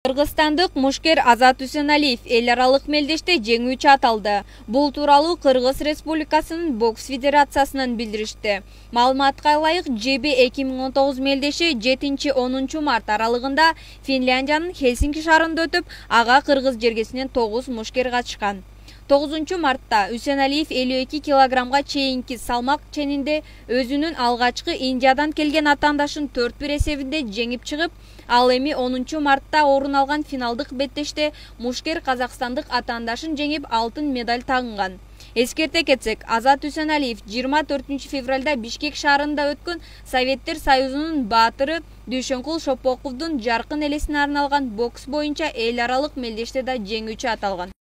Кыргызстандык мушкер Азат Үсеналиев эл аралык мелдеште жеңүүчү аталды. Бул тууралуу Кыргыз Республикасынын бокс федерациясынан билдиришти. Маалыматка ылайык, ЖБ 2019 мелдеши 7-10 март аралыгында Финляндиянын Хельсинки шаарында өтүп, ага кыргыз жергесинен 9 мушкер катышкан. 9 мартта Үсеналиев 52 килограммга чейинки салмак ченинде өзүнүн алгачкы Индиядан келген атаандашын 4-1 эсебинде жеңип чыгып, ал эми 10 мартта орун алган финалдык беттеште мушкер казакстандык атаандашын жеңип алтын медаль тагынган. Эскерте кетсек, Азат Үсеналиев 24 февралда Бишкек шаарында өткөн Советтер Союзунун баатыры Дүйшөнкул Шопоковдун жаркын элесине арналган бокс боюнча эл аралык мелдеште да жеңүүчү аталган.